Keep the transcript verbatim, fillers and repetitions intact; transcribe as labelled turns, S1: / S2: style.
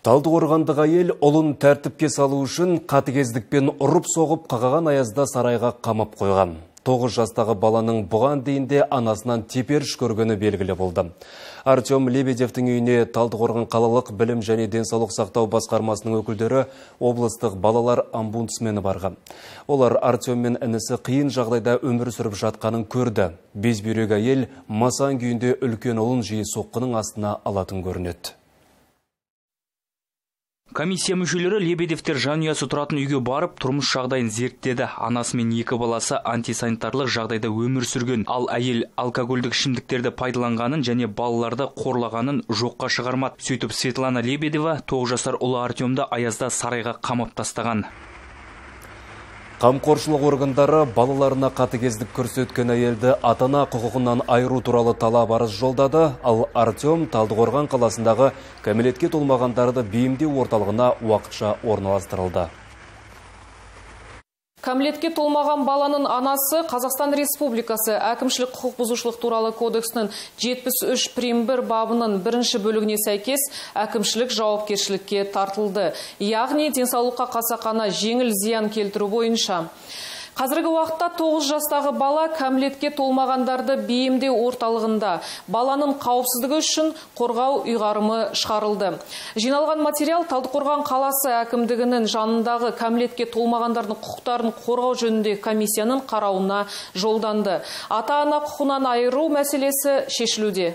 S1: Талдықорғандық әйел ұлын тәртіпке салу үшін қатыгездікпен ұрып соғып қағаған аязда сарайға қамап қойған. тоғыз жастағы баланың бұған дейінде анасынан теперіш көргені белгілі болды. Артем Лебедевтің үйіне Талдықорған қалалық білім және денсаулық сақтау басқармасының өкілдері облыстық балалар омбудсмені барған. Олар Артем мен інісі қиын жағдайда өмір сүріп жатқанын көрді. Безбүйрек әйел масаң күйінде үлкен ұлын жиі соққының астына алатын көрінеді.
S2: Комиссия мүшелері Лебедевтер жанұясы тұратын үйге барып, тұрмыс жағдайын зерттеді. Анасы мен екі баласы антисанитарлық жағдайда өмір сүрген. Ал әйел алкогольдік ішімдіктерді пайдаланғанын және балаларды қорлағанын жоққа шығармады. Сөйтіп Светлана Лебедева тоғыз жасар ұлы Артемді аязда сарайға қамап тастаған.
S1: Қамқоршылық органдары балаларына қатыгездік көрсеткен әйелді ата-ана құқығынан айыру туралы талап арыз жолдады, ал Артем Талдықорған қаласындағы кәмелетке толмағандарды бейімдеу орталығына уақытша орналастырылды.
S3: Кәмелетке толмаған баланың анасы Қазақстан Республикасы әкімшілік құқық бұзушылық туралы кодексінің жетпіс үш прим бір бабының бірінші бөлігіне сәйкес әкімшілік жауапкершілікке тартылды. Яғни денсаулыққа қасақана жеңіл зиян келтіру бойынша. Қазіргі уақытта тоғыз жастағы бала кәмелетке толмағандарды бейімдеу орталығында баланың қауіпсіздігі үшін қорғау ұйғарымы шығарылды. Жиналған материал Талдықорған қаласы әкімдігінің жанындағы кәмелетке толмағандардың құқықтарын қорғау жөніндегі комиссияның қарауына жолданды. Ата-ана құқығынан айыру мәселесі шешілуде.